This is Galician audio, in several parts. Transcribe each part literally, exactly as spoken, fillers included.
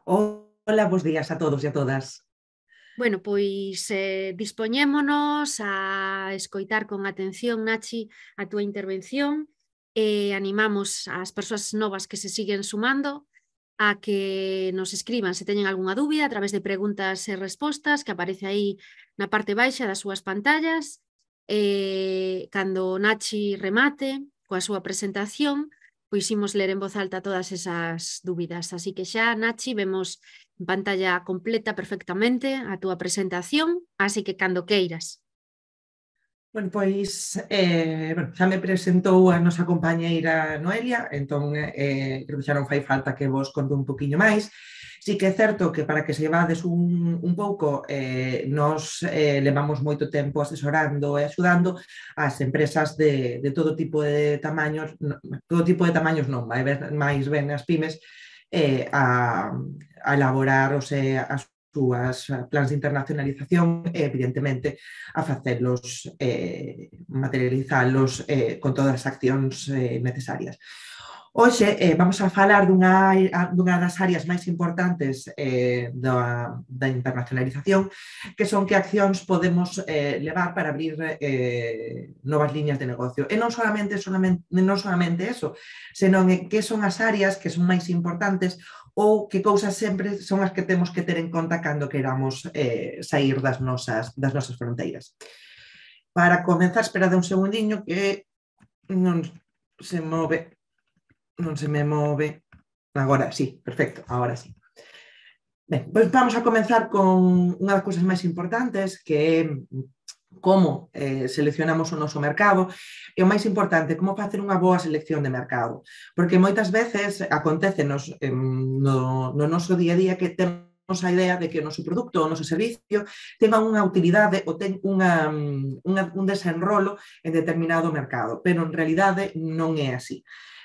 Hola, bos días a todos e a todas. Bueno, pois eh, dispoñémonos a escoitar con atención, Nachi, a túa intervención e animamos ás persoas novas que se siguen sumando a que nos escriban se teñen algunha dúbida a través de preguntas e respostas que aparece aí na parte baixa das súas pantallas. E cando Nachi remate coa súa presentación, pois imos ler en voz alta todas esas dúbidas. Así que xa, Nachi, vemos en pantalla completa perfectamente a túa presentación, así que cando queiras. Bueno, pois, eh, bueno, xa me presentou a nosa compañeira Noelia, entón eh, creo que xa non fai falta que vos conte un poquinho máis. Sí que é certo que para que se llevades un, un pouco, eh, nos eh, levamos moito tempo asesorando e axudando as empresas de, de todo tipo de tamaños, no, todo tipo de tamaños non, vai ben, máis ben as pymes, eh, a, a elaborar os, eh, as súas plans de internacionalización e, evidentemente, a facelos, eh, materializalos eh, con todas as accións eh, necesarias. Hoxe eh, vamos a falar dunha, dunha das áreas máis importantes eh, da, da internacionalización, que son que accións podemos eh, levar para abrir eh, novas liñas de negocio. E non solamente, solamente, non solamente eso, senón que son as áreas que son máis importantes ou que cousas sempre son as que temos que ter en conta cando queramos eh, sair das nosas, das nosas fronteiras. Para comenzar, esperade un segundiño que non se move, non se me move. Agora sí, perfecto, agora sí. Ben, pois vamos a comenzar con unha das cousas máis importantes, que é como eh, seleccionamos o noso mercado, e o máis importante, como facer unha boa selección de mercado. Porque moitas veces acontecenos eh, no, no noso día a día que temos a idea de que o noso produto, o noso servicio, tenga unha utilidade ou ten unha, unha, un desenrolo en determinado mercado, pero en realidade non é así.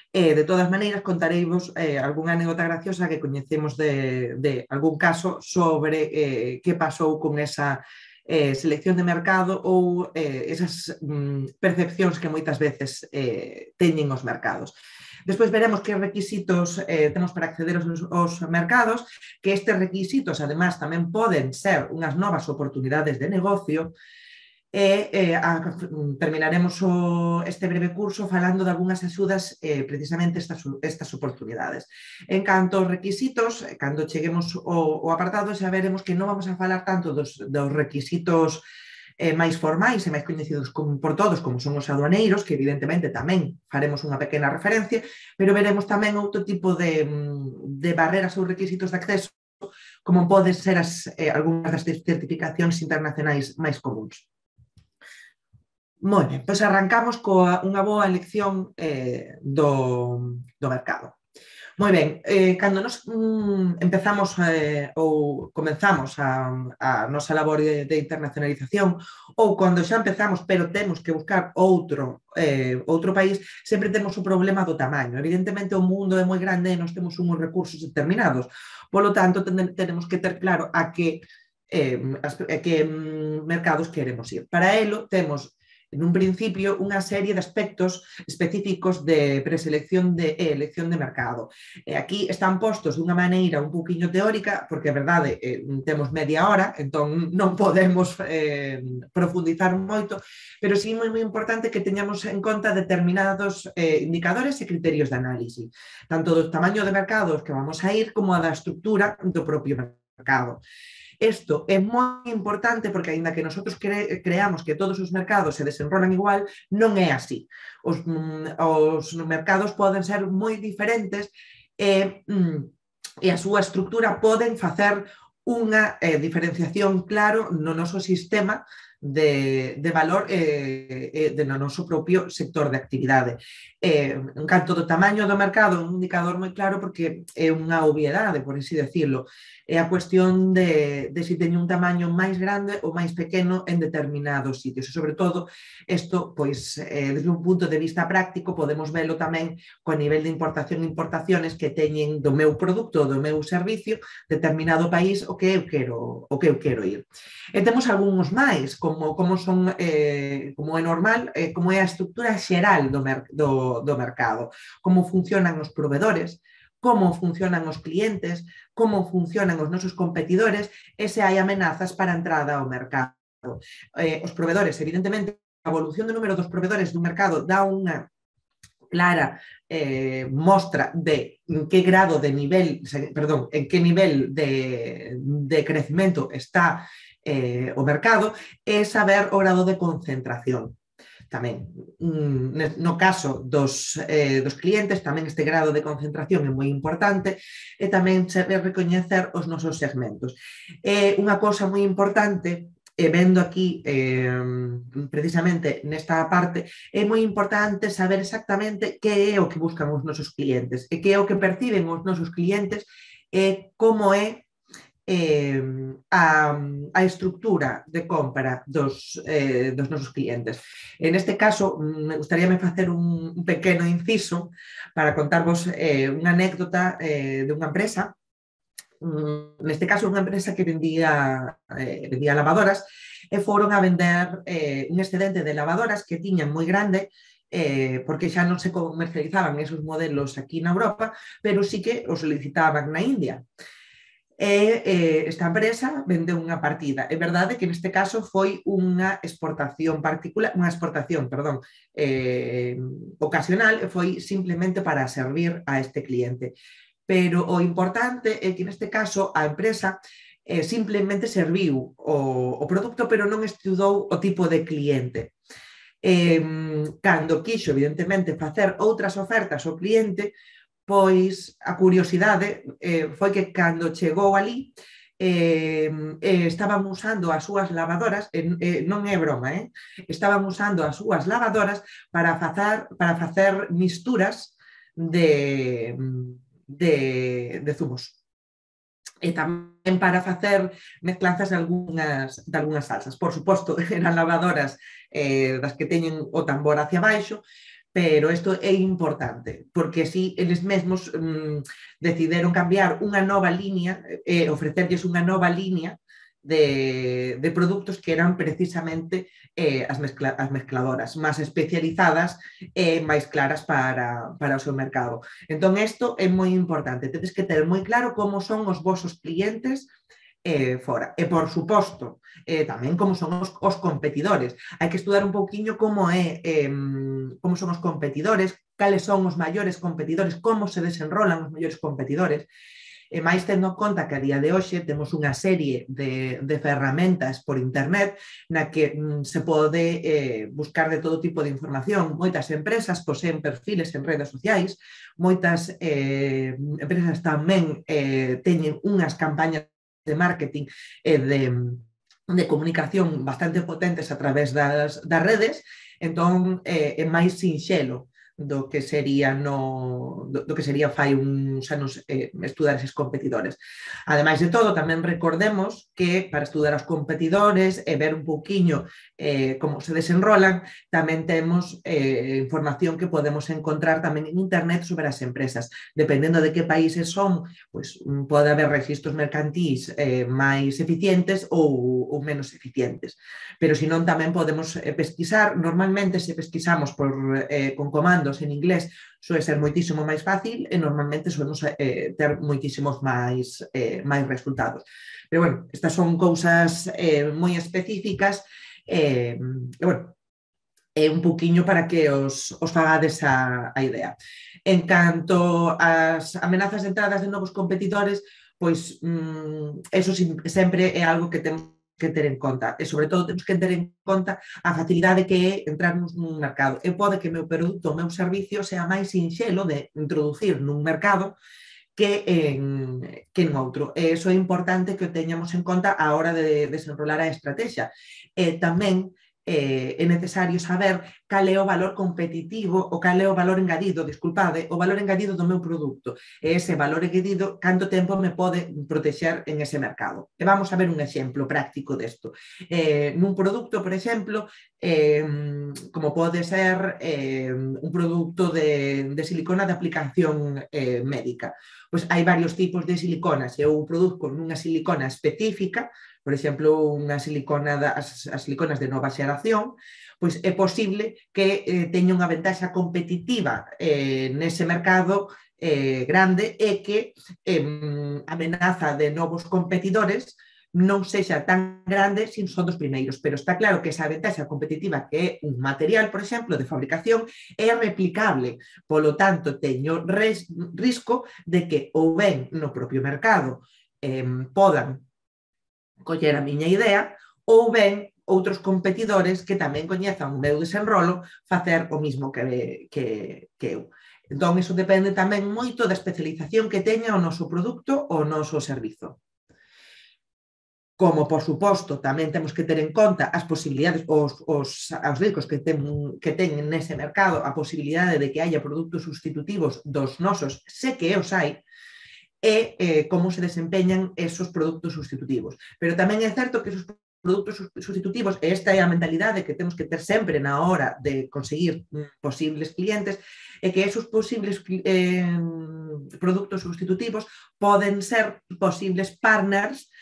E, de todas maneiras, contareivos eh, algunha anécdota graciosa que coñecemos de, de algún caso sobre eh, que pasou con esa eh, selección de mercado ou eh, esas mm, percepcións que moitas veces eh, teñen os mercados. Despois veremos que requisitos eh, temos para acceder aos, aos mercados, que estes requisitos, además, tamén poden ser unhas novas oportunidades de negocio. E eh, a, terminaremos o, este breve curso falando de algunhas axudas eh, precisamente estas, estas oportunidades. En canto aos requisitos, cando cheguemos ao, ao apartado, xa veremos que non vamos a falar tanto dos, dos requisitos eh, máis formais e máis coñecidos como, por todos, como son os aduaneiros, que evidentemente tamén faremos unha pequena referencia, pero veremos tamén outro tipo de, de barreras ou requisitos de acceso, como poden ser as, eh, algunhas das certificacións internacionais máis comuns. Moi ben, pois arrancamos coa unha boa elección eh, do, do mercado. Moi ben, eh, cando nos mm, empezamos eh, ou comenzamos a, a nosa labor de, de internacionalización ou cando xa empezamos pero temos que buscar outro, eh, outro país, sempre temos o problema do tamaño. Evidentemente o mundo é moi grande e nós temos uns recursos determinados. Polo tanto, ten, tenemos que ter claro a que, eh, a que mm, mercados queremos ir. Para elo temos en un principio unha serie de aspectos específicos de preselección de, e elección de mercado. E aquí están postos dunha maneira un poquinho teórica, porque a verdade eh, temos media hora, entón non podemos eh, profundizar moito, pero sí moi, moi importante que teñamos en conta determinados eh, indicadores e criterios de análise, tanto do tamaño de mercados que vamos a ir como a da estructura do propio mercado. Isto é moi importante porque, aínda que nosotros cre creamos que todos os mercados se desenrolan igual, non é así. Os, mm, os mercados poden ser moi diferentes e, mm, e a súa estructura poden facer unha eh, diferenciación claro no noso sistema de, de valor eh, eh, de no noso propio sector de actividade. Eh, en canto do tamaño do mercado, un indicador moi claro porque é unha obviedade, por así decirlo. É a cuestión de, de si teño un tamaño máis grande ou máis pequeno en determinados sitios. E, sobre todo, isto, pois, eh, desde un punto de vista práctico, podemos velo tamén co nivel de importación e importaciones que teñen do meu produto, do meu servicio, determinado país o que eu quero, o que eu quero ir. E temos algúns máis, como, como, son, eh, como é normal, eh, como é a estructura xeral do, mer do, do mercado, como funcionan os provedores, como funcionan os clientes, como funcionan os nosos competidores e se hai amenazas para a entrada ao mercado. Eh, os provedores, evidentemente, a evolución do número dos provedores do mercado dá unha clara eh, mostra de en que grado de nivel, perdón, en que nivel de, de crecemento está eh, o mercado e saber o grado de concentración. Tamén, no caso dos, eh, dos clientes, tamén este grado de concentración é moi importante e tamén saber recoñecer os nosos segmentos. É unha cousa moi importante, e vendo aquí eh, precisamente nesta parte, é moi importante saber exactamente que é o que buscan os nosos clientes e que é o que perciben os nosos clientes e como é eh, a, a estructura de compra dos, eh, dos nosos clientes. En este caso, me gustaría me facer un, un pequeno inciso para contarvos eh, unha anécdota eh, de unha empresa. Neste caso, unha empresa que vendía, eh, vendía lavadoras e foron a vender eh, un excedente de lavadoras que tiñan moi grande eh, porque xa non se comercializaban esos modelos aquí na Europa, pero sí que os solicitaban na India. E eh, esta empresa vendeu unha partida. É verdade que neste caso foi unha exportación particular, unha exportación, perdón, eh, ocasional, foi simplemente para servir a este cliente. Pero o importante é que neste caso a empresa eh, simplemente serviu o, o produto, pero non estudou o tipo de cliente. Eh, cando quixo, evidentemente, facer outras ofertas ao cliente, pois a curiosidade eh, foi que cando chegou ali eh, eh, estaban usando as súas lavadoras, eh, eh, non é broma, eh? estaban usando as súas lavadoras para facer, para facer misturas de... De, de zumos e tamén para facer mezclanzas de algunhas, de algunhas salsas. Por suposto, eran lavadoras eh, das que teñen o tambor hacia baixo, pero isto é importante, porque así eles mesmos mm, decidiron cambiar unha nova línea, eh, ofrecerlles unha nova línea De, de produtos que eran precisamente eh, as, mezcla, as mezcladoras máis especializadas e eh, máis claras para, para o seu mercado. Entón, isto é moi importante. Tedes que ter moi claro como son os vosos clientes eh, fora. E, por suposto, eh, tamén como son os, os competidores. Hai que estudar un pouquiño como, é, eh, como son os competidores, cales son os maiores competidores, como se desenrolan os maiores competidores. E máis tendo en conta que a día de hoxe temos unha serie de, de ferramentas por internet na que mm, se pode eh, buscar de todo tipo de información. Moitas empresas poseen perfiles en redes sociais, moitas eh, empresas tamén eh, teñen unhas campañas de marketing e de, de comunicación bastante potentes a través das, das redes, entón eh, é máis sinxelo do que sería no do, do que sería fai uns anos eh, estudar eses competidores. Ademais de todo, tamén recordemos que para estudar os competidores e ver un pouquiño eh, como se desenrolan, tamén temos eh, información que podemos encontrar tamén en internet sobre as empresas. Dependendo de que países son, pues, pode haber registros mercantís eh, máis eficientes ou, ou menos eficientes. Pero senón tamén podemos eh, pesquisar. Normalmente se pesquisamos por, eh, con comandos en inglés suele ser moitísimo máis fácil e normalmente solemos eh, ter moitísimos máis, eh, máis resultados. Pero bueno, estas son cousas eh, moi específicas e, eh, bueno, é un pouquiño para que os, os fagades a, a idea. En canto ás amenazas de entradas de novos competidores, pois mm, eso sempre é algo que temos que ter en conta, e sobre todo temos que ter en conta a facilidade que é entrarnos nun mercado. E pode que o meu produto, o meu servicio sea máis sinxelo de introducir nun mercado que en, que en outro. E iso é importante que o teñamos en conta a hora de desenrolar a estrategia. E tamén eh, é necesario saber cal é o valor competitivo ou cal é o valor engadido, disculpade, o valor engadido do meu produto. E ese valor engadido, canto tempo me pode protexer en ese mercado. E vamos a ver un exemplo práctico desto. Eh, nun produto, por exemplo, eh, como pode ser eh, un produto de, de silicona de aplicación eh, médica. Pois hai varios tipos de siliconas. Eu produzo nunha silicona específica, por exemplo, unha silicona das, as siliconas de nova xeración, pois é posible que eh, teña unha ventaxa competitiva eh, nese mercado eh, grande e que eh, a amenaza de novos competidores non sexa tan grande sin son dos primeiros, pero está claro que esa ventaxa competitiva que é un material, por exemplo, de fabricación é replicable, polo tanto teño res, risco de que ou ben no propio mercado eh, podan coller a miña idea ou ben outros competidores que tamén coñezan o meu desenrolo facer o mismo que, que, que eu. Entón, iso depende tamén moito da especialización que teña o noso produto ou o noso servizo. Como, por suposto, tamén temos que ter en conta as posibilidades, os, os, os riscos que ten, que ten nese mercado, a posibilidade de que haya produtos sustitutivos dos nosos, sé que os hai, e eh, como se desempeñan esos produtos sustitutivos. Pero tamén é certo que esos produtos sustitutivos, e esta é a mentalidade que temos que ter sempre na hora de conseguir posibles clientes, é que esos posibles eh, produtos sustitutivos poden ser posibles partners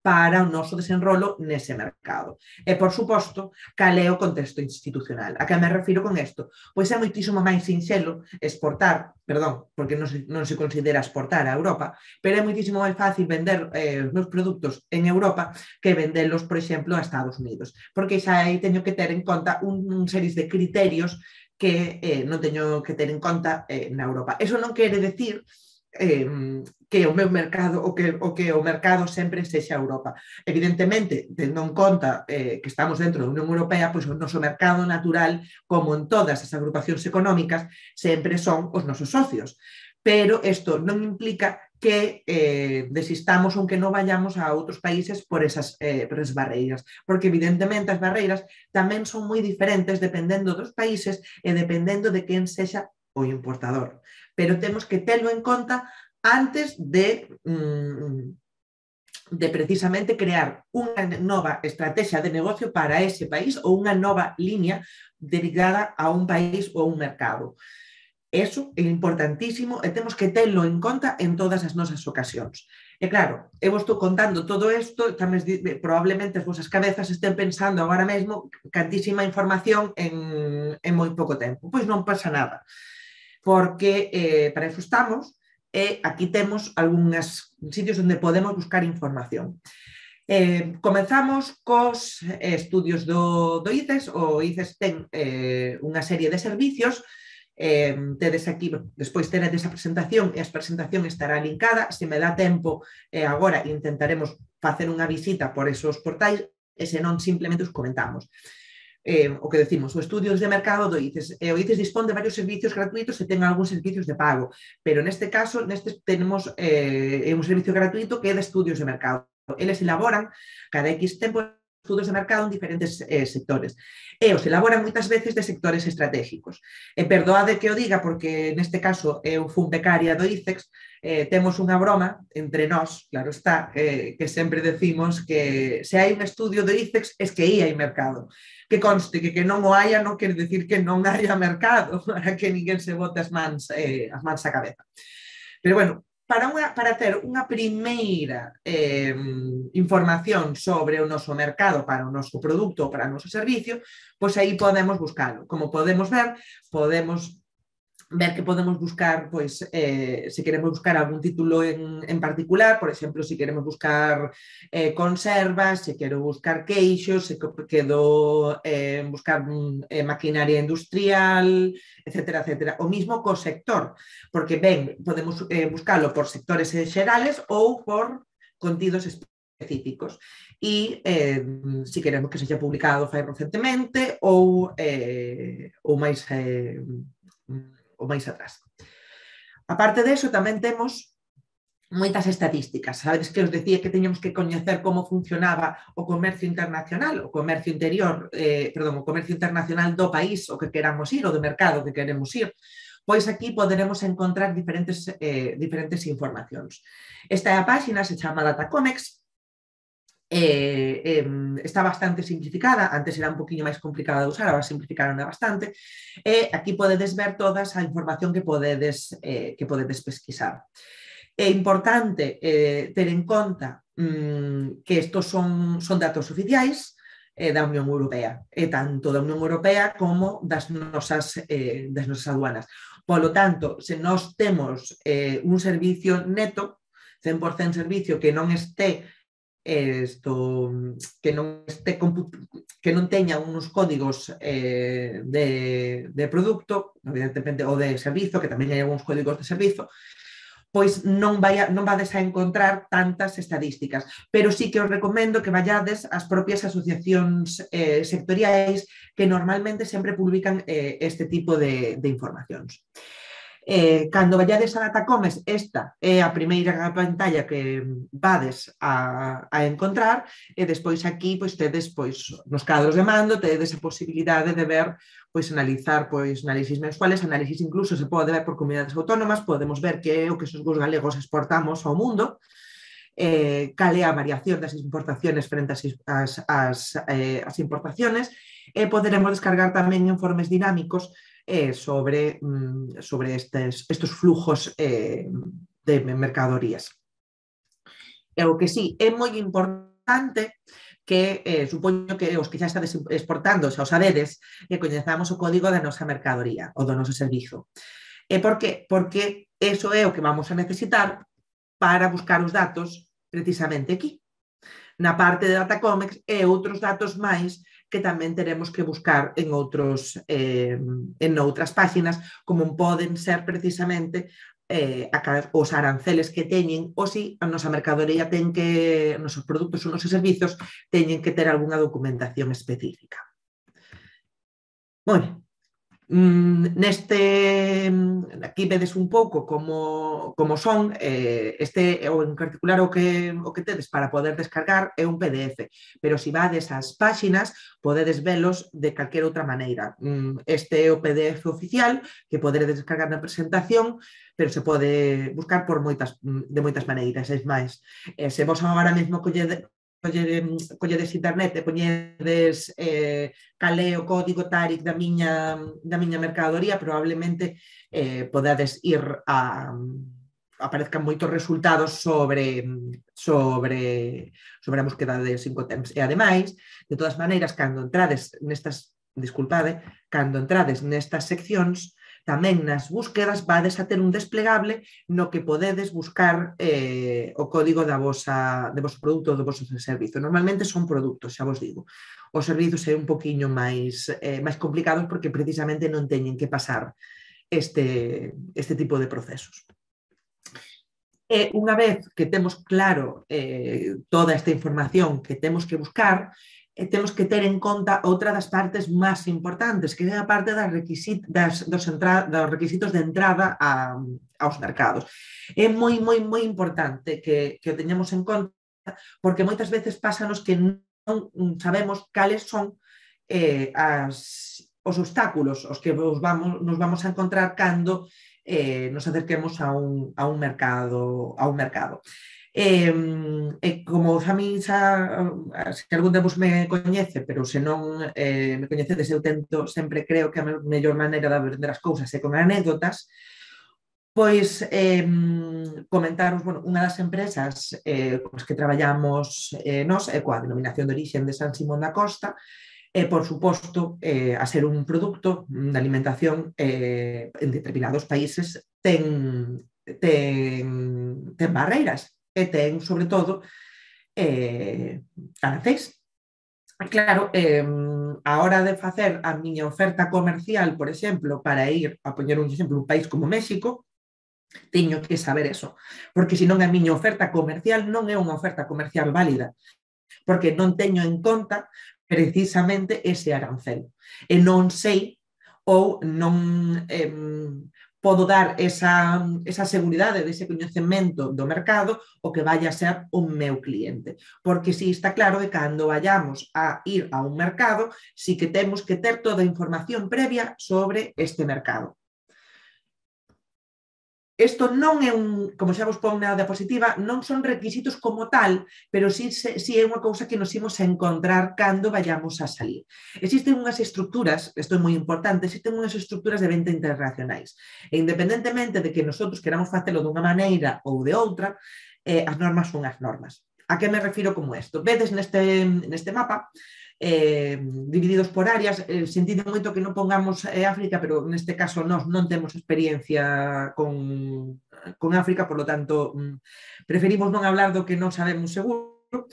para o noso desenrolo nese mercado. E, por suposto, cal é o contexto institucional. A que me refiro con isto? Pois é moitísimo máis sinxelo exportar, perdón, porque non se, non se considera exportar a Europa, pero é moitísimo máis fácil vender eh, os meus produtos en Europa que vendelos, por exemplo, a Estados Unidos. Porque xa aí teño que ter en conta un, un series de criterios que eh, non teño que ter en conta eh, na Europa. Eso non quere decir Eh, que o meu mercado o que, o que o mercado sempre sexa Europa. Evidentemente, tendo en conta eh, que estamos dentro da Unión Europea, pois o noso mercado natural, como en todas as agrupacións económicas, sempre son os nosos socios. Pero isto non implica que eh, desistamos ou que non vayamos a outros países por esas, eh, por esas barreiras, porque evidentemente as barreiras tamén son moi diferentes dependendo dos países e dependendo de quen sexa o importador. Pero temos que terlo en conta antes de, de precisamente crear unha nova estrategia de negocio para ese país ou unha nova línea dedicada a un país ou un mercado. Eso é importantísimo e temos que terlo en conta en todas as nosas ocasións. E claro, eu estou contando todo isto, tamén probablemente as vosas cabezas estén pensando agora mesmo cantísima información en, en moi pouco tempo. Pois non pasa nada, porque eh, para eso estamos e aquí temos algúns sitios onde podemos buscar información. Eh, comenzamos cos estudios do, do I C E S. O I C E S ten eh, unha serie de servicios. Eh, tedes aquí, despois teredes a presentación e a presentación estará linkada. Se me dá tempo, eh, agora intentaremos facer unha visita por esos portais e senón simplemente os comentamos. Eh, o que decimos, o estudios de mercado do I C E S. Eh, o I C E S dispón de varios servicios gratuitos e ten algúns servicios de pago, pero neste caso neste tenemos eh, un servicio gratuito que é de estudios de mercado. Eles elaboran cada X tempo estudos de mercado en diferentes eh, sectores e os elaboran moitas veces de sectores estratégicos. E perdoade que o diga porque neste caso eu fun becaria do I C E S. Eh, temos unha broma entre nós, claro está, eh, que sempre decimos que se hai un estudio do I C E S es que aí hai mercado. Que conste que que non o haya non quere decir que non haya mercado, para que ninguén se bote as mans, eh, as mans á cabeza. Pero bueno, para, unha, para ter unha primeira eh, información sobre o noso mercado, para o noso produto ou para o noso servicio, pois aí podemos buscalo. Como podemos ver, podemos ver que podemos buscar, pois, eh, se queremos buscar algún título en, en particular, por exemplo, se queremos buscar eh, conservas, se quero buscar queixos, se quero eh, buscar eh, maquinaria industrial, etcétera, etcétera. O mismo co sector, porque ben, podemos eh, buscarlo por sectores xerales ou por contidos específicos. E eh, se queremos que sexa publicado fai recentemente ou, eh, ou máis... Eh, ou máis atrás. A parte deso, tamén temos moitas estatísticas. Sabedes que os decía que teñamos que coñecer como funcionaba o comercio internacional, o comercio interior, eh, perdón, o comercio internacional do país o que queramos ir, ou do mercado que queremos ir. Pois aquí poderemos encontrar diferentes, eh, diferentes informacións. Esta é a páxina, se chama Datacomex. Eh, eh, está bastante simplificada, antes era un poquinho máis complicada de usar, agora simplificaron bastante, e aquí podedes ver toda a información que podedes, eh, que podedes pesquisar. É importante eh, ter en conta mm, que estos son, son datos oficiais eh, da Unión Europea, e tanto da Unión Europea como das nosas, eh, das nosas aduanas. Polo tanto, se nós temos eh, un servicio neto, cen por cento servicio que non este Esto, que non este que non teña uns códigos eh, de, de produto, evidentemente, ou de servizo, que tamén hai algúns códigos de servizo, pois non, vai a, non vades a encontrar tantas estadísticas, pero sí que os recomendo que vayades ás propias asociacións eh, sectoriais que normalmente sempre publican eh, este tipo de, de informacións. Eh, cando vallades a Datacomes, esta é a primeira pantalla que vades a, a encontrar, e despois aquí pois, tedes pois, nos cadros de mando, tedes a posibilidade de ver, pois, analizar pois, análisis mensuales, análisis incluso se pode ver por comunidades autónomas, podemos ver que é o que os galegos exportamos ao mundo, eh, cal é a variación das importaciones frente ás, as, as, eh, as importaciones, e poderemos descargar tamén informes dinámicos eh, sobre, sobre estes, estes flujos eh, de mercadorías. E o que sí, é moi importante que, eh, supoño que os que xa estades exportando, xa os sabedes, que coñezamos o código da nosa mercadoría ou do noso servizo. E por qué? Porque eso é o que vamos a necesitar para buscar os datos precisamente aquí, na parte de Datacomes, e outros datos máis que tamén teremos que buscar en outros eh, en outras páxinas, como poden ser precisamente eh, os aranceles que teñen, ou se a nosa mercadoría ten que, os nosos produtos ou os nosos servizos teñen que ter algunha documentación específica. Bueno, neste, aquí vedes un pouco como, como son, eh, este, ou en particular o que, o que tedes para poder descargar é un P D F, pero se vades ás páxinas podedes velos de calquera outra maneira. Este é o P D F oficial que podedes descargar na presentación, pero se pode buscar por moitas, de moitas maneiras, é máis. Eh, se vos agora mesmo colledes colledes internet e poñedes eh, cal é o código Tarik da miña, da miña mercadoría, probablemente eh, podades ir a aparezcan moitos resultados sobre sobre sobre a búsqueda de cinco temps. E ademais, de todas maneiras, cando entrades nestas, disculpade, cando entrades nestas seccións, tamén nas búsquedas vades a ter un desplegable no que podedes buscar eh, o código da vosa, de vosso produto ou do vosso servizo. Normalmente son produtos, xa vos digo. Os servizos é un poquinho máis, eh, máis complicados porque precisamente non teñen que pasar este, este tipo de procesos. E unha vez que temos claro eh, toda esta información que temos que buscar, e temos que ter en conta outra das partes máis importantes, que é a parte das requisit das, dos, entra dos requisitos de entrada a, aos mercados. É moi, moi, moi importante que, que o teñamos en conta, porque moitas veces pásanos que non sabemos cales son eh, as, os obstáculos os que nos vamos, nos vamos a encontrar cando eh, nos acerquemos a un, a un mercado. A un mercado. E, e como a mí xa, se algún de vos me coñece, pero se non eh, me coñecedes, eu tento, sempre creo que a mellor maneira de aprender as cousas é con anécdotas, pois eh, comentaros, bueno, unha das empresas eh, con as que traballamos eh, nós é coa denominación de orixen de San Simón da Costa, e, por suposto, eh, a ser un produto de alimentación eh, en determinados países ten, ten, ten barreiras. E ten, sobre todo, eh, aranceis. Claro, eh, a hora de facer a miña oferta comercial, por exemplo, para ir a poñer un exemplo, un país como México, teño que saber eso, porque senón a miña oferta comercial non é unha oferta comercial válida, porque non teño en conta precisamente ese arancel. E non sei ou non... Eh, podo dar esa, esa seguridade dese coñecemento do mercado o que vaya a ser o meu cliente. Porque si está claro que cando vayamos a ir a un mercado, si que temos que ter toda a información previa sobre este mercado. Isto non é un, como xa vos pon na diapositiva, non son requisitos como tal, pero sí, sí é unha cousa que nos imos a encontrar cando vayamos a salir. Existen unhas estructuras, isto é moi importante, existen unhas estructuras de venta internacionais. E independentemente de que nosotros queramos facelo dunha maneira ou de outra, eh, as normas son as normas. A que me refiro como isto? Vedes neste, neste mapa eh, divididos por áreas, eh, sentido moito que non pongamos eh, África, pero neste caso nós non temos experiencia con, con África, por lo tanto preferimos non hablar do que non sabemos seguro.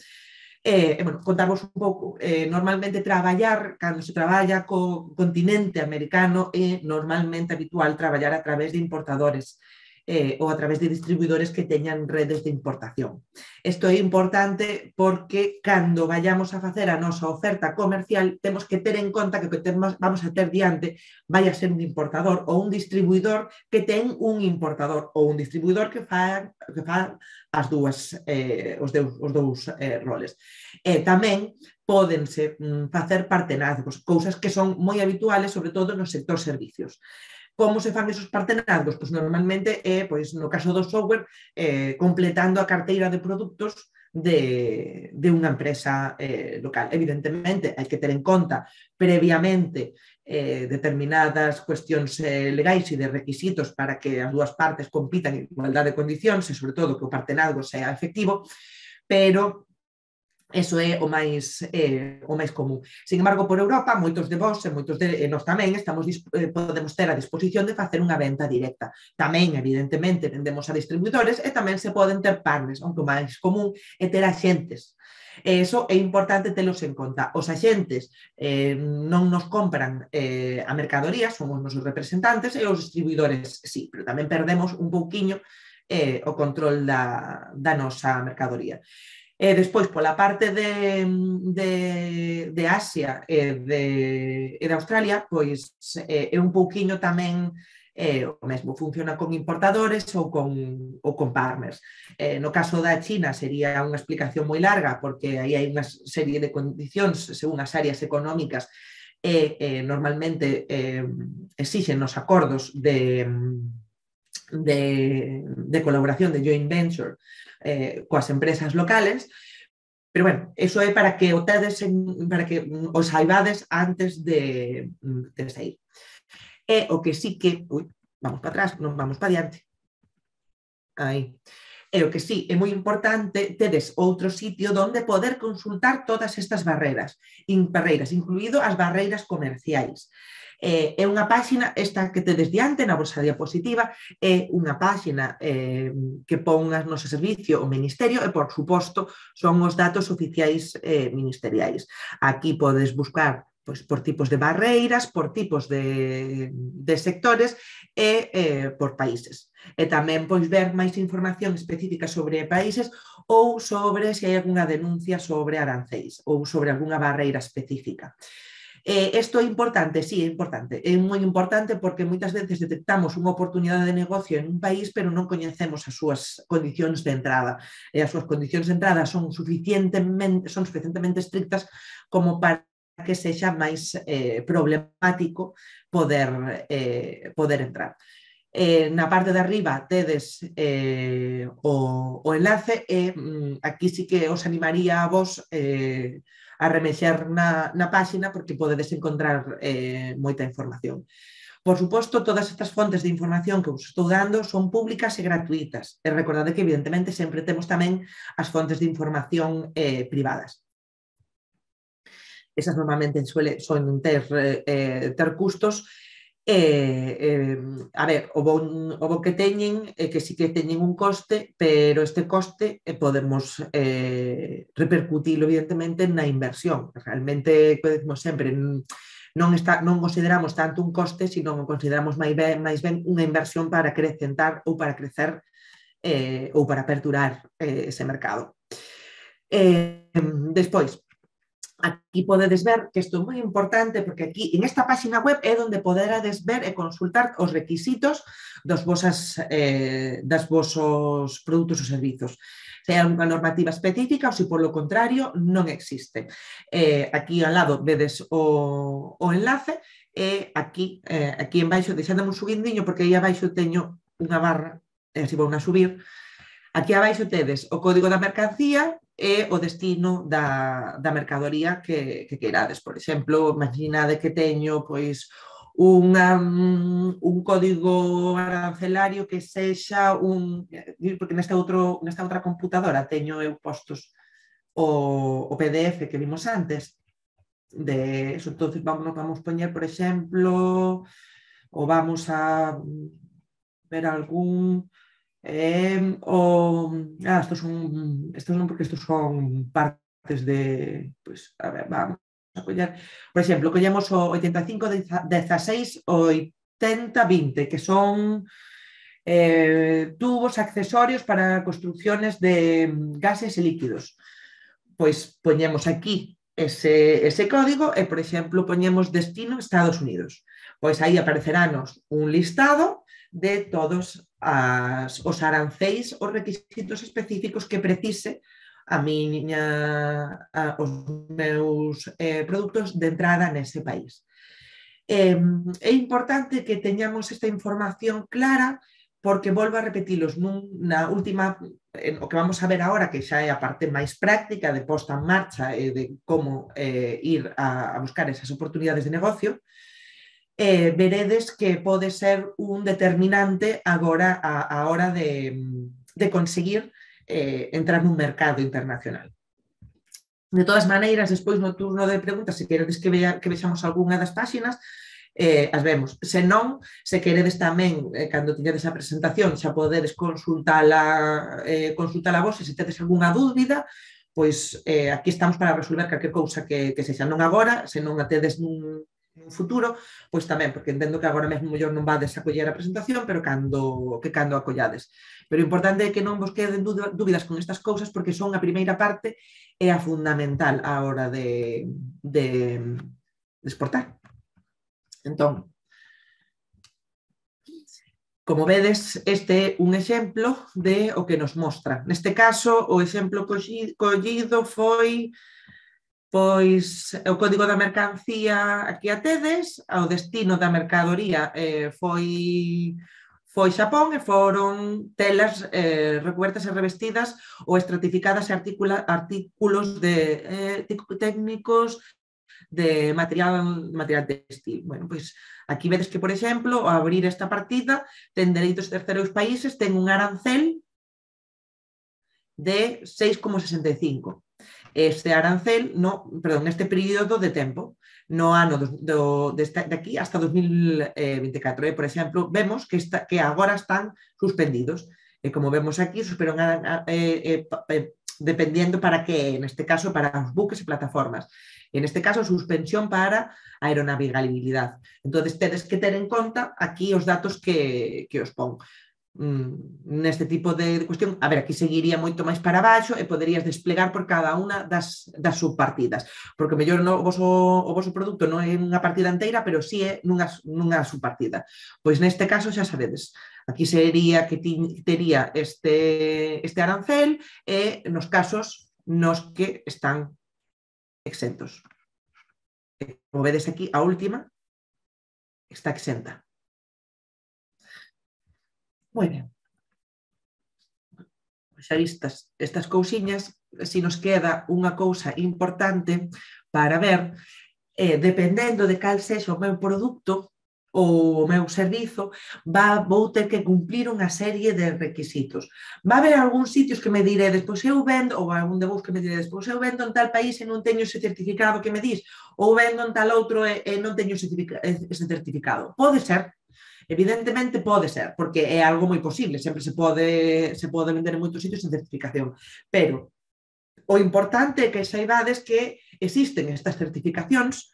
E, eh, bueno, contarvos un pouco, eh, normalmente traballar, cando se traballa co continente americano, é normalmente habitual traballar a través de importadores eh, ou a través de distribuidores que teñan redes de importación. Isto é importante porque cando vayamos a facer a nosa oferta comercial temos que ter en conta que o que temos, vamos a ter diante vai a ser un importador ou un distribuidor que ten un importador ou un distribuidor que fa, que fa as dúas, eh, os, deus, os dous eh, roles. E tamén pódense mm, facer partenazgos, cousas que son moi habituales, sobre todo no sector servicios. Como se fan esos partenazgos? Pois normalmente é, pois, no caso do software, eh, completando a carteira de produtos de, de unha empresa eh, local. Evidentemente, hai que ter en conta previamente eh, determinadas cuestións eh, legais e de requisitos para que as dúas partes compitan en igualdade de condicións e, sobre todo, que o partenazgo sea efectivo, pero eso é o máis, eh, o máis común. Sin embargo, por Europa, moitos de vós e moitos de nós tamén estamos, eh, podemos ter a disposición de facer unha venta directa. Tamén, evidentemente, vendemos a distribuidores e tamén se poden ter partners, aunque o máis común é ter axentes. E iso é importante telos en conta. Os axentes eh, non nos compran eh, a mercadoría, somos nosos representantes, e os distribuidores sí, pero tamén perdemos un pouquiño eh, o control da, da nosa mercadoría. E despois, pola parte de, de, de Asia e de, e de Australia, pois é un pouquiño tamén eh, o mesmo, funciona con importadores ou con, ou con partners. Eh, no caso da China sería unha explicación moi larga, porque aí hai unha serie de condicións según as áreas económicas e eh, normalmente eh, exixen os acordos de, de, de colaboración de joint venture Eh, coas empresas locales, pero bueno, eso é para que o tedes en, para que os saibades antes de, de sair. E o que sí que, ui, vamos para atrás, non vamos para diante. Aí. E o que sí, é moi importante tedes outro sitio onde poder consultar todas estas barreras, in, barreiras, incluído as barreiras comerciais. Eh, é unha páxina, esta que tedes diante na vosa diapositiva, é unha páxina eh, que pon a noso servicio o Ministerio e, por suposto, son os datos oficiais eh, ministeriais. Aquí podes buscar pois, por tipos de barreiras, por tipos de, de sectores e eh, por países. E tamén pois, ver máis información específica sobre países ou sobre se hai algunha denuncia sobre arancéis ou sobre algunha barreira específica. Eh, isto é importante? Sí, é importante. É moi importante porque moitas veces detectamos unha oportunidade de negocio en un país pero non coñecemos as súas condicións de entrada. E as súas condicións de entrada son suficientemente, son suficientemente estrictas como para que sexa máis eh, problemático poder, eh, poder entrar. Eh, na parte de arriba tedes eh, o, o enlace e mm, aquí sí que os animaría a vos eh, a remexer na, na páxina porque podedes encontrar eh, moita información. Por suposto, todas estas fontes de información que vos estou dando son públicas e gratuitas. E recordade que, evidentemente, sempre temos tamén as fontes de información eh, privadas. Esas normalmente suele, suelen ter, eh, ter custos. Eh, eh, a ver, o bon, o bon que teñen é que sí que teñen un coste, pero este coste eh, podemos eh, repercutilo evidentemente na inversión. Realmente, como decimos sempre, non, está, non consideramos tanto un coste, sino que consideramos máis ben, máis ben unha inversión para acrecentar ou para crecer eh, ou para aperturar eh, ese mercado. Eh, despois, aquí podedes ver que isto é moi importante porque aquí, en esta página web, é onde poderades ver e consultar os requisitos dos vosas, eh, das vosos produtos ou servizos. Se hai unha normativa específica ou se, polo contrario, non existe. Eh, aquí ao lado vedes o, o enlace e aquí, eh, aquí en baixo, deixadame un subindiño porque aí abaixo teño unha barra, e así vou a subir. Aquí abaixo tedes o código da mercancía e o destino da, da mercadoría que, que queirades. Por exemplo, imaginade que teño pois, unha, un código arancelario que sexa un... Porque nesta, outro, nesta outra computadora teño eu postos o, o P D F que vimos antes de eso. Entonces vamos, vamos a poner, por ejemplo, o vamos a ver algún eh, o ah, estos son estos non porque estos son partes de, pues a ver, vamos a coller, por exemplo, collemos o oitenta e cinco dieciséis o oitenta vinte, que son eh, tubos accesorios para construcciones de gases e líquidos. Pois poñemos aquí ese, ese código e, por exemplo, poñemos destino Estados Unidos. Pois aí apareceranos un listado de todos as, os aranceis, os requisitos específicos que precise a miña, a, os meus eh, produtos de entrada nese país. Eh, é importante que teñamos esta información clara porque volvo a repetilos na última, o que vamos a ver agora, que xa é a parte máis práctica de posta en marcha e de como eh, ir a, a buscar esas oportunidades de negocio, eh, veredes que pode ser un determinante agora a, a hora de, de conseguir eh, entrar nun mercado internacional. De todas maneiras, despois no turno de preguntas, se queredes que, vea, que vexamos algunha das páxinas, eh, as vemos. Se non, se queredes tamén, eh, cando tiñedes a presentación, xa podedes consultala, eh, consultala vos, e se tedes algunha dúbida, pois eh, aquí estamos para resolver calquer cousa que, que sexa, non agora, se non a tedes nun, nun futuro, pois tamén, porque entendo que agora mesmo mellor non vades a coller a presentación, pero cando, que cando a collades. Pero o importante é que non vos queden dúbidas con estas cousas, porque son a primeira parte e a fundamental a hora de, de, de exportar. Entón, como vedes, este é un exemplo de o que nos mostra. Neste caso, o exemplo collido foi pois o código da mercancía aquí a tedes, o destino da mercadoría eh, foi foi Xapón e foron telas eh, recubertas e revestidas ou estratificadas e articula, artículos de, eh, técnicos de material, material textil. Bueno, pois aquí vedes que, por exemplo, ao abrir esta partida, ten dereitos terceiros países, ten un arancel de seis coma sesenta e cinco. Este arancel, no, perdón, este período de tempo, no ano do, do, de, de aquí hasta dos mil vinte e catro. E, por exemplo, vemos que, está, que agora están suspendidos. E como vemos aquí, suspenderon eh, eh, eh, dependiendo para que, neste caso, para os buques e plataformas. En este caso, suspensión para aeronavegabilidade. Entón, tedes que ter en conta aquí os datos que, que os pon. Mm, neste tipo de cuestión, a ver, aquí seguiría moito máis para baixo e poderías desplegar por cada unha das, das subpartidas, porque mellor no, o, voso, o voso produto non é unha partida inteira, pero sí é nunha, nunha subpartida. Pois neste caso xa sabedes, aquí sería que ti, tería este, este arancel e nos casos nos que están exentos. Como vedes aquí, a última está exenta. Moi ben. Xa vistas estas cousiñas, si nos queda unha cousa importante para ver, eh, dependendo de cal sexa o meu produto ou o meu servizo, va, vou ter que cumplir unha serie de requisitos. Va haber algúns sitios que me diredes, pois eu vendo, ou algún de vos que me diredes, pois eu vendo en tal país e non teño ese certificado que me dis, ou vendo en tal outro e, e non teño ese certificado. Pode ser, evidentemente pode ser, porque é algo moi posible, sempre se pode, se pode vender en moitos sitios sen certificación, pero o importante é que saibades que existen estas certificacións,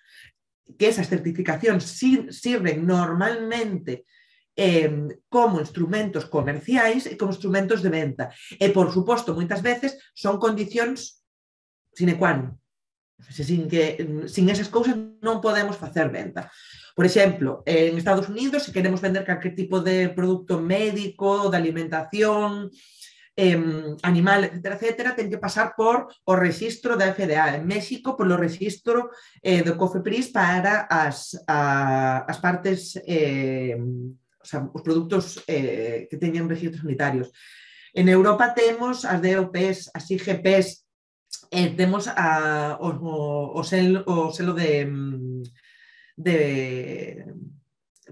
que esas certificacións sirven normalmente eh, como instrumentos comerciais e como instrumentos de venta. E, por suposto, moitas veces son condicións sine qua non. Sin, que, sin esas cousas non podemos facer venta. Por exemplo, en Estados Unidos, se queremos vender calquer tipo de producto médico, de alimentación, Eh, animal, etcétera, etcétera, ten que pasar por o registro da F D A. En México, polo registro eh, do COFEPRIS para as, a, as partes, eh, o sea, os produtos eh, que teñen registros sanitarios. En Europa temos as D O Ps, as I G Ps, eh, temos a, o, o, selo, o selo de, de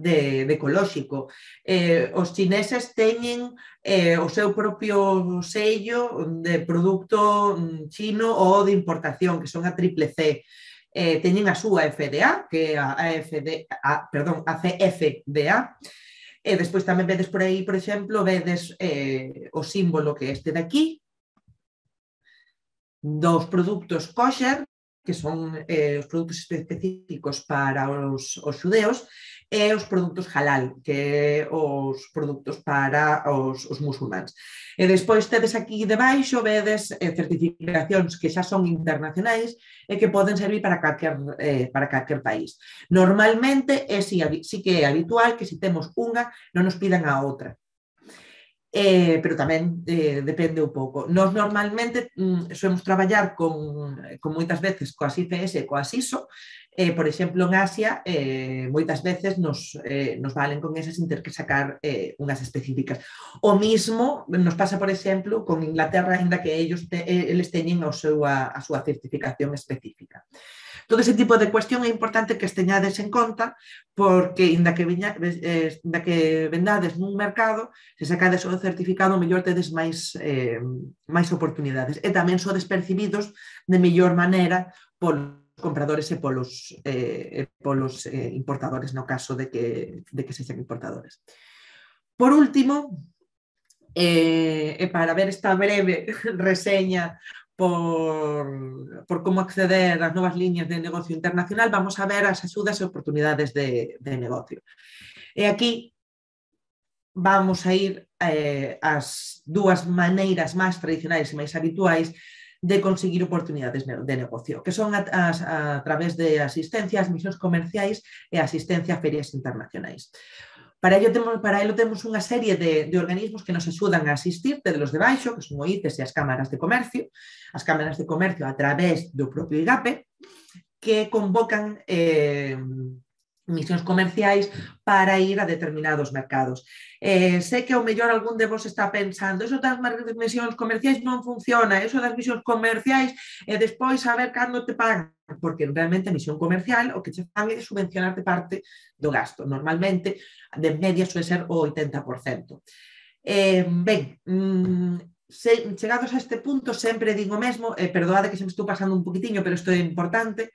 de, de ecolóxico. Eh, os chineses teñen eh, o seu propio sello de produto chino ou de importación, que son a triple C. Eh, teñen a súa F D A, que é a, F D A, perdón, a C F D A, e despois tamén vedes por aí, por exemplo, vedes eh, o símbolo que é este de aquí, dos produtos kosher, que son eh, os produtos específicos para os, os xudeos, e os produtos halal, que é os produtos para os, os musulmáns. E despois tedes aquí debaixo, vedes eh, certificacións que xa son internacionais e que poden servir para calquer, eh, para calquer país. Normalmente, é si, si que é habitual que se temos unha, non nos pidan a outra. Eh, pero tamén eh, depende un pouco. Nós normalmente mm, solemos traballar con, con moitas veces coas I C S e coas I S O, eh, por exemplo en Asia eh, moitas veces nos, eh, nos valen con esas sin ter que sacar eh, unhas específicas. O mismo nos pasa, por exemplo, con Inglaterra, ainda que ellos te, eles teñen a súa, a súa certificación específica. Todo ese tipo de cuestión é importante que esteñades en conta, porque inda que, viña, eh, inda que vendades nun mercado, se sacades o certificado, mellor tedes máis, eh, máis oportunidades. E tamén sodes percibidos de mellor maneira polos compradores e polos, eh, polos eh, importadores, no caso de que, de que sexan importadores. Por último, eh, e para ver esta breve reseña Por, por como acceder ás novas liñas de negocio internacional, vamos a ver as axudas e oportunidades de, de negocio. E aquí vamos a ir eh, as dúas maneiras máis tradicionais e máis habituais de conseguir oportunidades de negocio, que son a, a, a través de asistencia ás misións comerciais e asistencia a ferias internacionais. Para ello temos, para ello temos unha serie de, de organismos que nos axudan a asistir, de los de baixo, que son o I C E S e as cámaras de comercio, as cámaras de comercio a través do propio IGAPE, que convocan eh, misións comerciais para ir a determinados mercados. Eh, sei que ao mellor algún de vos está pensando, eso das misións comerciais non funciona, eso das misións comerciais e despois saber cando te pagan, porque realmente a misión comercial o que che fan é subvencionarte parte do gasto. Normalmente, de media, suele ser o oitenta por cento. Eh, ben, mmm, se, chegados a este punto, sempre digo mesmo, eh, perdoade que se me estou pasando un poquitiño, pero isto é importante,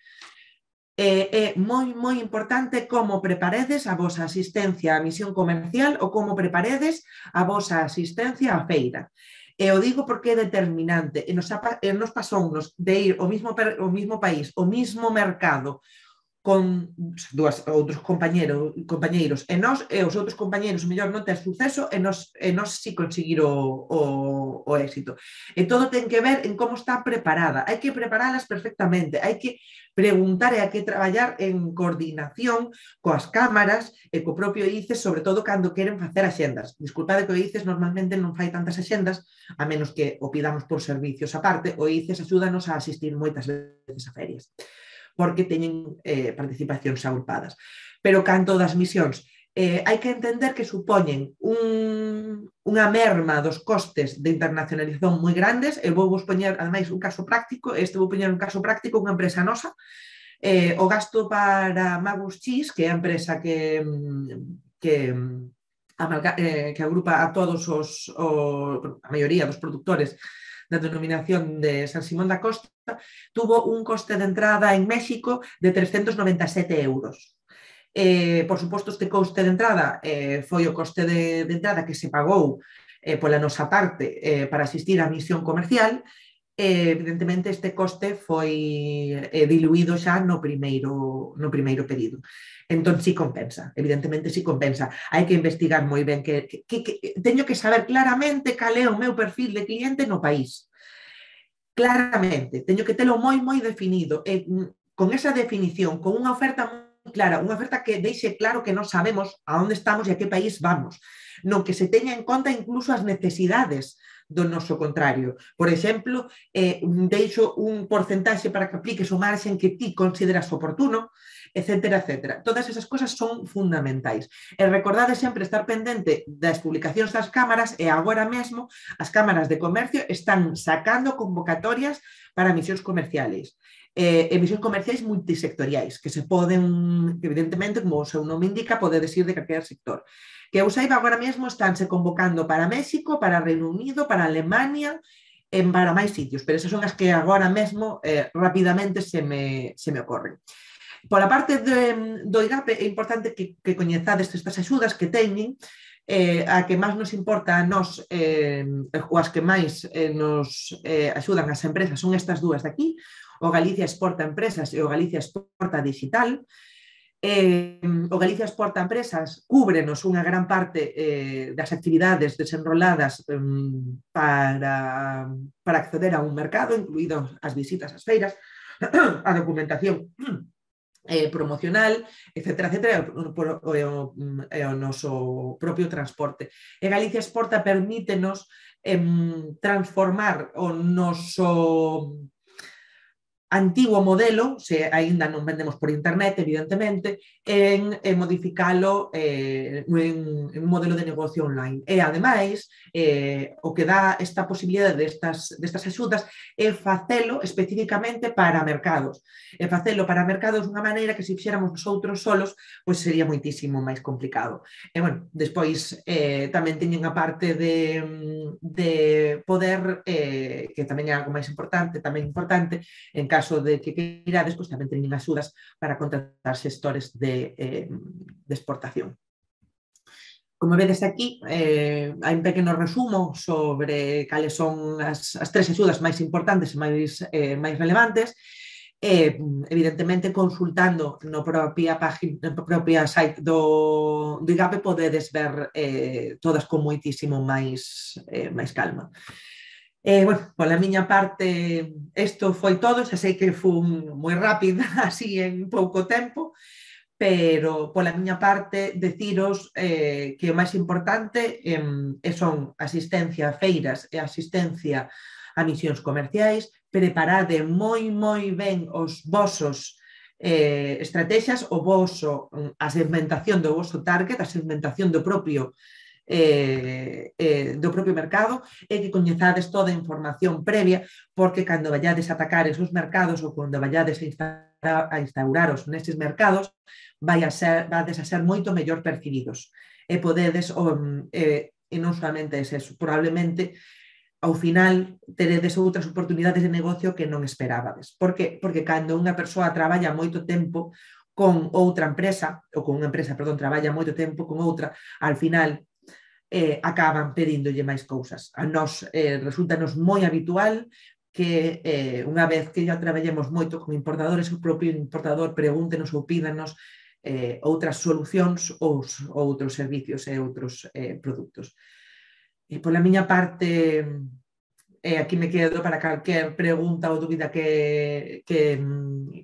eh, é moi, moi importante como preparedes a vosa asistencia á misión comercial ou como preparedes a vosa asistencia á feira. E o digo porque é determinante. E nos, e nos pasounos de ir ao mismo, ao mismo país, ao mismo mercado, con dúas, outros compañeros, compañeiros e nós e os outros compañeiros o mellor non ten suceso e nós, e nós si conseguir o, o, o éxito. E todo ten que ver en como está preparada. Hai que preparalas perfectamente, hai que preguntar e hai que traballar en coordinación coas cámaras e co propio I C E S, sobre todo cando queren facer axendas. Disculpade que o I C E S normalmente non fai tantas axendas, a menos que o pidamos por servicios aparte. O I C E S axúdanos a asistir moitas veces a ferias, porque teñen eh, participacións agrupadas. Pero canto das misións, eh, hai que entender que supoñen un, unha merma dos costes de internacionalización moi grandes. Eu vou vos poñer, ademais, un caso práctico, este vou poñer un caso práctico, unha empresa nosa, eh, o gasto para Magus Cheese, que é a empresa que, que, amalga, eh, que agrupa a todos os, o, a maioría dos produtores da denominación de San Simón da Costa, tuvo un coste de entrada en México de trescentos noventa e sete euros. Eh, por suposto, este coste de entrada eh, foi o coste de, de entrada que se pagou eh, pola nosa parte eh, para asistir á misión comercial. Eh, evidentemente, este coste foi eh, diluído xa no primeiro, no primeiro pedido. Entón, sí compensa, evidentemente sí compensa. Hai que investigar moi ben, que, que, que teño que saber claramente cal é o meu perfil de cliente no país. Claramente, teño que telo moi, moi definido. E con esa definición, con unha oferta moi clara, unha oferta que deixe claro que non sabemos a onde estamos e a que país vamos, non que se teña en conta incluso as necesidades do noso contrario. Por exemplo, eh, deixo un porcentaxe para que apliques o marxen que ti consideras oportuno, etcétera, etcétera. Todas esas cosas son fundamentais. E recordade sempre estar pendente das publicacións das cámaras, e agora mesmo as cámaras de comercio están sacando convocatorias para misións comerciales. eh, emisións comerciais multisectoriais, que se poden, que evidentemente, como o seu nome indica, podedes ir de calquer sector. Que eu saiba, agora mesmo estánse convocando para México, para Reino Unido, para Alemania, en para máis sitios, pero esas son as que agora mesmo eh, rapidamente se me, se me ocorren. Pola parte de, do IGAPE é importante que, que coñezades estas axudas que teñen, eh, a que máis nos importa a nós, eh, ou as que máis eh, nos eh, axudan as empresas son estas dúas de aquí, o Galicia Exporta Empresas e o Galicia Exporta Digital. Eh, o Galicia Exporta Empresas cúbrenos unha gran parte eh, das actividades desenroladas eh, para, para acceder a un mercado, incluído as visitas ás feiras, a documentación eh, promocional, etcétera, etcétera, e o, o, o noso propio transporte. E Galicia Exporta permítenos eh, transformar o noso antigo modelo, se aínda non vendemos por internet, evidentemente, en, en modificalo eh, en, en un modelo de negocio online. E, ademais, eh, o que dá esta posibilidade destas, destas axudas é facelo especificamente para mercados. E facelo para mercados dunha maneira que se fixéramos nosotros solos, pois sería moitísimo máis complicado. E, bueno, despois eh, tamén teñen a parte de, de poder, eh, que tamén é algo máis importante, tamén importante, en caso de que queirades, pois tamén teñen axudas para contratar xestores de, eh, de exportación. Como vedes aquí, eh, hai un pequeno resumo sobre cales son as, as tres axudas máis importantes e máis, eh, máis relevantes. Eh, evidentemente, consultando no propia página, no propia site do, do IGAPE podedes ver eh, todas con moitísimo máis, eh, máis calma. Eh, bueno, pola miña parte, isto foi todo, xa sei que fun moi rápida, así en pouco tempo, pero pola miña parte deciros eh, que o máis importante eh, son asistencia a feiras e asistencia a misións comerciais, preparade moi, moi ben os vosos eh, estrategias, o voso, a segmentación do voso target, a segmentación do propio Eh, eh, do propio mercado e que coñezades toda a información previa, porque cando vayades a atacar esos mercados ou cando vayades a, instaurar, a instauraros nestes mercados vai a ser, vades a ser moito mellor percibidos e podedes um, eh, e non solamente es eso, probablemente ao final teredes outras oportunidades de negocio que non esperábades. Por que? Porque cando unha persoa traballa moito tempo con outra empresa, ou con unha empresa, perdón, traballa moito tempo con outra, al final Eh, acaban pedíndolle máis cousas. A nós eh, resultanos moi habitual que eh, unha vez que já traballemos moito con importadores, o propio importador pregúntenos ou pídanos eh, outras solucións ou outros servicios e outros eh, produtos. E pola miña parte, eh, aquí me quedo para calquer pregunta ou dúbida que, que,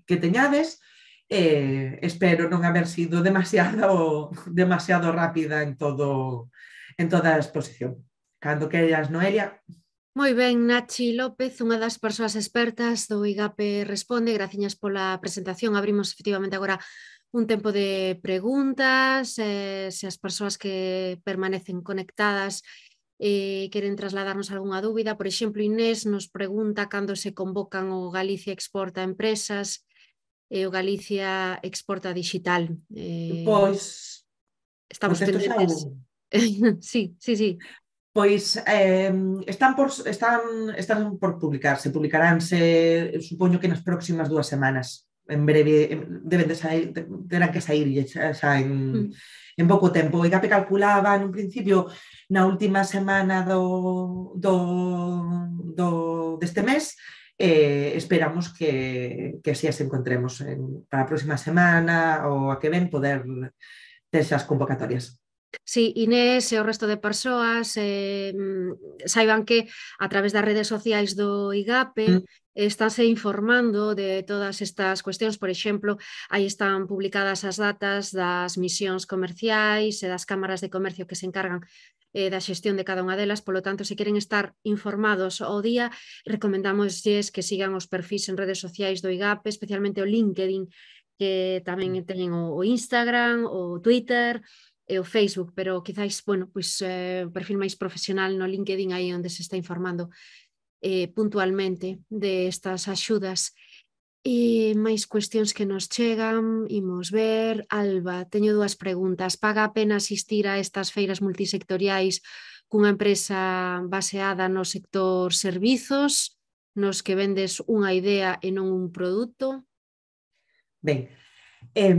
que teñades. Eh, espero non haber sido demasiado, demasiado rápida en todo en toda a exposición. Cando queras, Noelia. Moi ben, Nachi López, unha das persoas expertas do IGAPE Responde, graciñas pola presentación. Abrimos efectivamente agora un tempo de preguntas, eh, se as persoas que permanecen conectadas eh, queren trasladarnos algunha dúbida. Por exemplo, Inés nos pregunta cando se convocan o Galicia Exporta Empresas e o Galicia Exporta Digital. Eh, pois, estamos pendentes. Sí, sí, sí. Pois eh, están, por, están, están por publicarse, publicaránse, supoño que nas próximas dúas semanas. En breve, deben de sair, terán que sair xa, xa en, mm. en pouco tempo. O IGAPE calculaba nun principio na última semana do, do, do deste mes. Eh, esperamos que, que así as encontremos en, para a próxima semana ou a que ven poder ter esas convocatorias. Sí, Inés e o resto de persoas eh, saiban que a través das redes sociais do IGAPE mm. estánse informando de todas estas cuestións. Por exemplo, aí están publicadas as datas das misións comerciais e das cámaras de comercio que se encargan eh, da xestión de cada unha delas. Polo tanto, se queren estar informados ao día, recomendámoslles que sigan os perfis en redes sociais do IGAPE, especialmente o LinkedIn, que tamén teñen o Instagram, o Twitter e o Facebook, pero quizáis, bueno, pois eh, o perfil máis profesional no LinkedIn, aí onde se está informando eh, puntualmente de estas axudas. E máis cuestións que nos chegan, imos ver. Alba, teño dúas preguntas. Paga a pena asistir a estas feiras multisectoriais cunha empresa baseada no sector servizos, nos que vendes unha idea e non un produto? Ben, eh,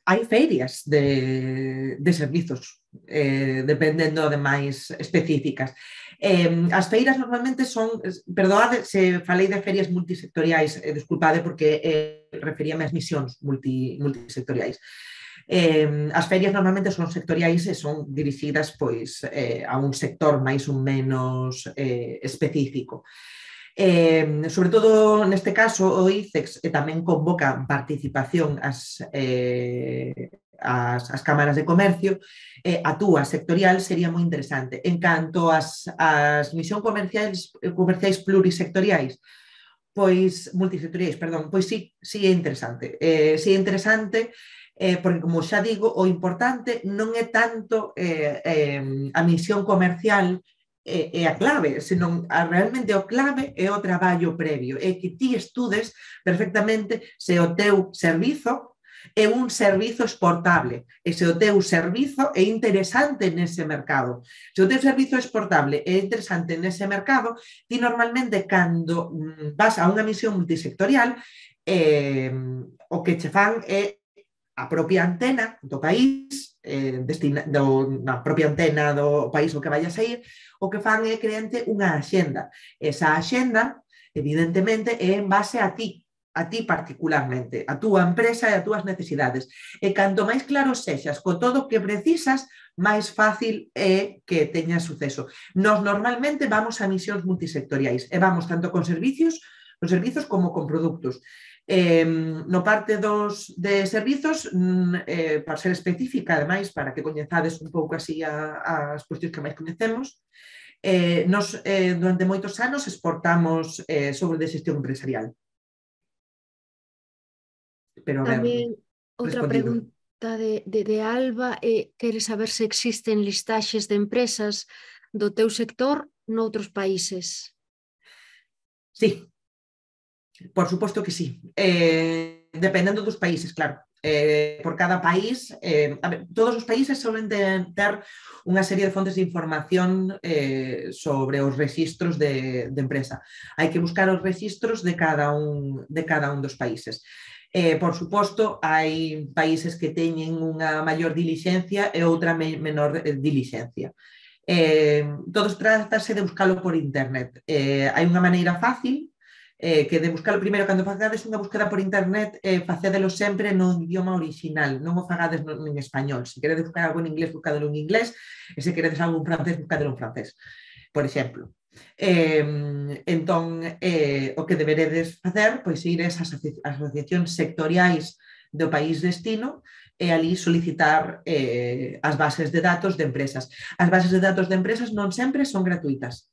hai feiras de, de servizos, eh, dependendo de máis específicas. Eh, as feiras normalmente son, perdoade se falei de ferias multisectoriais, eh, desculpade porque eh, referíame ás misións multi, multisectoriais. Eh, as ferias normalmente son sectoriais e son dirixidas pois, eh, a un sector máis ou menos eh, específico. Eh, sobre todo neste caso o ICEX eh, tamén convoca participación ás, eh, as, as cámaras de comercio, eh, a túa sectorial sería moi interesante. En canto ás, as misións comerciais, comerciais plurisectoriais, pois multisectoriais, perdón, pois sí, sí é interesante. Eh, sí é interesante eh, porque, como xa digo, o importante non é tanto eh, eh, a misión comercial é, é a clave, senón a, realmente o clave é o traballo previo, é que ti estudes perfectamente se o teu servizo é un servizo exportable, e se o teu servizo é interesante nese mercado. Se o teu servizo é exportable e é interesante nese mercado, ti normalmente cando vas a unha misión multisectorial, eh, o que che fan é a propia antena do país, eh, destina, do, na propia antena do país o que vayas a ir, o que fan é creante unha axenda. Esa axenda, evidentemente, é en base a ti, a ti particularmente, a túa empresa e a túas necesidades. E canto máis claro sexas co todo o que precisas, máis fácil é que teñas suceso. Nos normalmente vamos a misións multisectoriais e vamos tanto con servicios, con servizos como con produtos. Eh, no parte dos de servizos, eh, para ser específica, ademais, para que coñezades un pouco así a, as cuestións que máis coñecemos, eh, nos eh, durante moitos anos exportamos eh, sobre de xestión empresarial. Pero, a ver, Tamén outra respondido. pregunta de, de, de Alba é, quere saber se existen listaxes de empresas do teu sector noutros países. Sí, por suposto que sí. Eh, dependendo dos países, claro. Eh, por cada país, eh, a ver, todos os países suelen ter unha serie de fontes de información eh, sobre os registros de, de empresa. Hai que buscar os registros de cada un, de cada un dos países. Eh, por suposto, hai países que teñen unha maior dilixencia e outra menor dilixencia. Eh, todos trátase de buscalo por internet. Eh, hai unha maneira fácil, eh, que de buscalo primeiro, cando facades unha búsqueda por internet, eh, facédelo sempre no idioma original, non o fagades no, en español. Se queredes buscar algo en inglés, buscadelo en inglés, e se queredes algo en francés, buscadelo en francés, por exemplo. Eh, entón, eh, o que deberedes facer, pois ir a esas asociacións sectoriais do país destino e ali solicitar eh, as bases de datos de empresas. As bases de datos de empresas non sempre son gratuitas.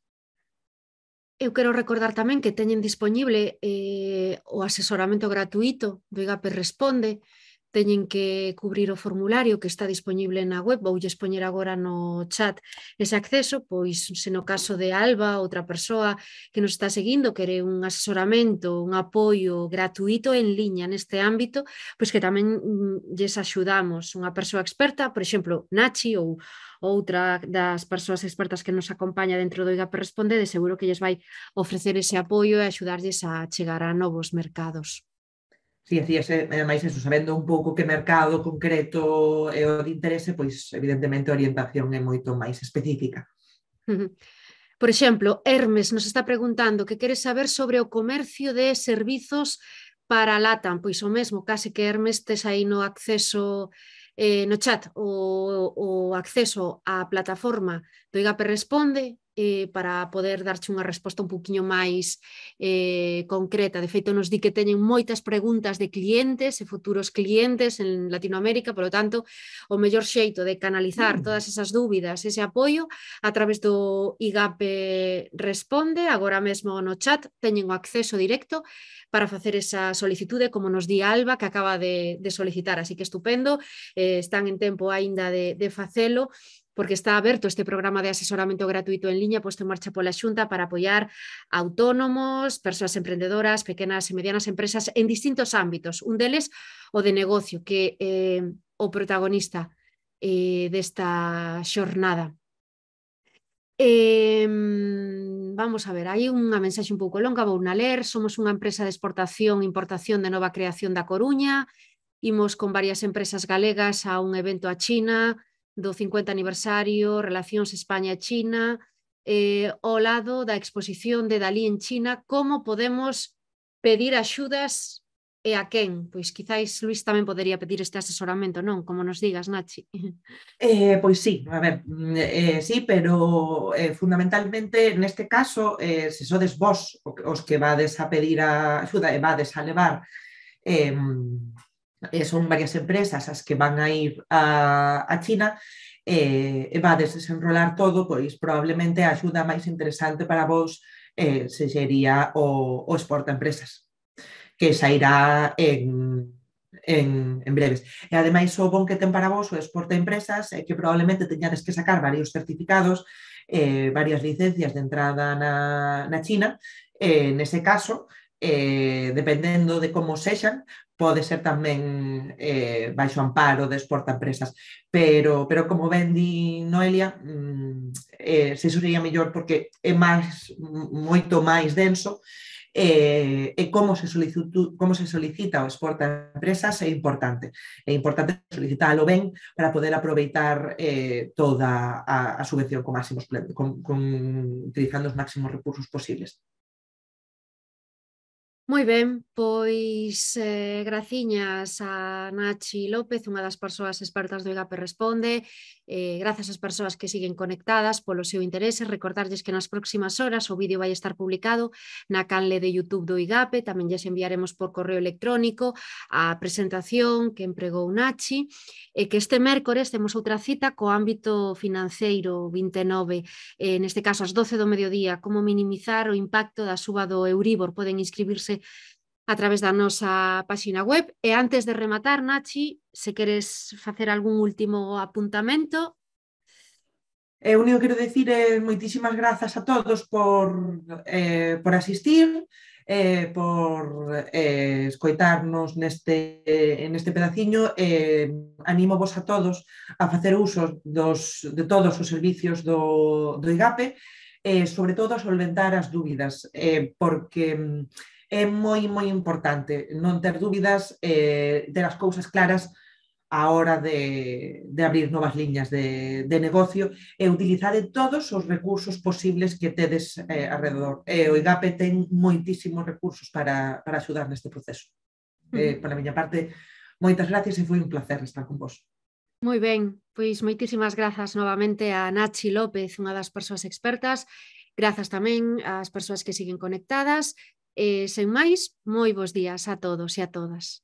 Eu quero recordar tamén que teñen disponible eh, o asesoramento gratuito do IGAPE Responde. Teñen que cubrir o formulario que está disponible na web, voulles poñer agora no chat ese acceso, pois se no caso de Alba, outra persoa que nos está seguindo, quere un asesoramento, un apoio gratuito en liña neste ámbito, pois que tamén mm, lles axudamos unha persoa experta, por exemplo, Nachi ou outra das persoas expertas que nos acompaña dentro do IGAPE Responde, de seguro que lles vai ofrecer ese apoio e axudarlles a chegar a novos mercados. Si, así, ademais, eso, sabendo un pouco que mercado concreto é o de interese, pois, evidentemente, a orientación é moito máis específica. Por exemplo, Hermes nos está preguntando que quere saber sobre o comercio de servizos para LATAM. Pois o mesmo, case que Hermes tes aí no acceso eh, no chat o, o acceso á plataforma do IGAPE Responde eh, para poder darche unha resposta un poquinho máis eh, concreta. De feito, nos di que teñen moitas preguntas de clientes e futuros clientes en Latinoamérica, polo tanto, o mellor xeito de canalizar todas esas dúbidas, ese apoio, a través do IGAPE Responde. Agora mesmo no chat teñen o acceso directo para facer esa solicitude, como nos di Alba, que acaba de, de solicitar. Así que estupendo, eh, están en tempo aínda de, de facelo, porque está aberto este programa de asesoramento gratuito en liña posto en marcha pola Xunta para apoiar autónomos, persoas emprendedoras, pequenas e medianas empresas en distintos ámbitos. Un deles, o de negocio, que é eh, o protagonista eh, desta xornada. Eh, vamos a ver, hai unha mensaxe un pouco longa, vou na ler. Somos unha empresa de exportación e importación de nova creación da Coruña. Imos con varias empresas galegas a un evento a China do cincuenta aniversario, Relacións España-China, eh, ao lado da exposición de Dalí en China. Como podemos pedir axudas e a quen? Pois quizáis Luís tamén podería pedir este asesoramento, non? Como nos digas, Nachi. Eh, pois sí, a ver, eh, sí, pero eh, fundamentalmente neste caso, eh, se sodes vos os que vades a pedir a axuda e vades a levar, eh, eh, son varias empresas as que van a ir a, a China, eh, e vades desenrolar todo, pois probablemente a axuda máis interesante para vos eh, se sería o, o exporta empresas, que sairá en En, en breves. E ademais o bon que ten para vos o exporta empresas é que probablemente teñades que sacar varios certificados, eh, varias licencias de entrada na, na China. Eh, nese caso, eh, dependendo de como sexan, pode ser tamén eh, baixo amparo de exporta empresas, pero, pero como ben di Noelia, mm, eh, se iso sería mellor porque é máis, moito máis denso. E, e como se solicita, como se solicita o exporta empresas é importante. É importante solicitalo ben para poder aproveitar eh, toda a, a subvención con máximos, con, con, utilizando os máximos recursos posibles. Moi ben, pois eh, graciñas a Nachi López, unha das persoas expertas do IGAPE Responde, eh, grazas ás persoas que siguen conectadas polo seu interese. Recordarlles que nas próximas horas o vídeo vai estar publicado na canle de YouTube do IGAPE, tamén lles enviaremos por correo electrónico a presentación que empregou Nachi, e que este mércores temos outra cita co ámbito financeiro vinte e nove, eh, neste caso ás doce do mediodía, como minimizar o impacto da suba do Euríbor. Poden inscribirse a través da nosa páxina web. E antes de rematar, Nachi, se queres facer algún último apuntamento. E o único que quero dicir é moitísimas grazas a todos por, eh, por asistir, eh, por eh, escoitarnos neste, eh, neste pedaciño. Eh, animo vos a todos a facer uso dos, de todos os servicios do, do IGAPE, eh, sobre todo a solventar as dúbidas, eh, porque é moi, moi importante non ter dúbidas, eh, ter as cousas claras a hora de, de abrir novas liñas de, de negocio e utilizar todos os recursos posibles que tedes eh, alrededor. E o IGAPE ten moitísimos recursos para, para axudar neste proceso. Eh, por a miña parte, moitas gracias e foi un placer estar con vos. Moi ben, pois moitísimas grazas novamente a Nachi López, unha das persoas expertas. Grazas tamén ás persoas que siguen conectadas. E, sen máis, moi bons días a todos e a todas.